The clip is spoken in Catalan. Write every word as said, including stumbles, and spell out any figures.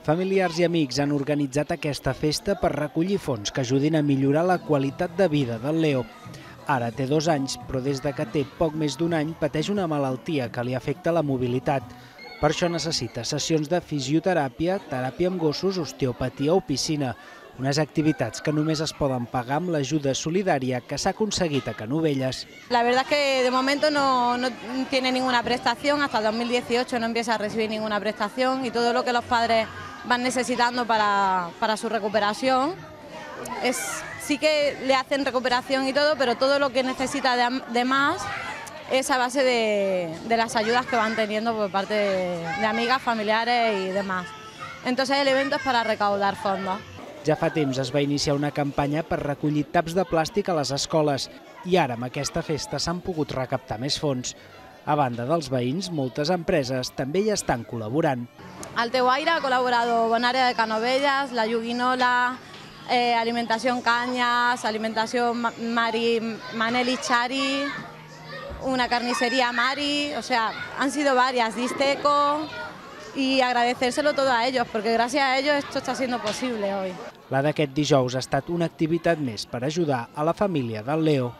Familiars i amics han organitzat aquesta festa per recollir fons que ajudin a millorar la qualitat de vida del Leo. Ara té dos anys, però des de que té poc més d'un any pateix una malaltia que li afecta la mobilitat. Per això necessita sessions de fisioteràpia, teràpia amb gossos, osteopatia o piscina, unes activitats que només es poden pagar amb l'ajuda solidària que s'ha aconseguit a Canovelles. La verdad es que de momento no, no tiene ninguna prestación, hasta el dos mil dieciocho no empieza a recibir ninguna prestación y todo lo que los padres van necesitando para, para su recuperación, es, sí que le hacen recuperación y todo, pero todo lo que necesita de, de más es a base de, de las ayudas que van teniendo por parte de, de amigas, familiares y demás. Entonces el evento es para recaudar fondos. Ja fa temps es va iniciar una campanya per recollir taps de plàstic a les escoles i ara amb aquesta festa s'han pogut recaptar més fons. A banda dels veïns, moltes empreses també hi estan col·laborant. Alteuaire ha colaborado Bonaria de Canovelles, la Yuguinola, eh, Alimentación Cañas, Alimentación Mari, Maneli Chari, una carnicería Mari, o sea, han sido varias, Disteco, y agradecérselo todo a ellos, porque gracias a ellos esto está siendo posible hoy. La d'aquest dijous ha estat una activitat més per ajudar a la família del Leo.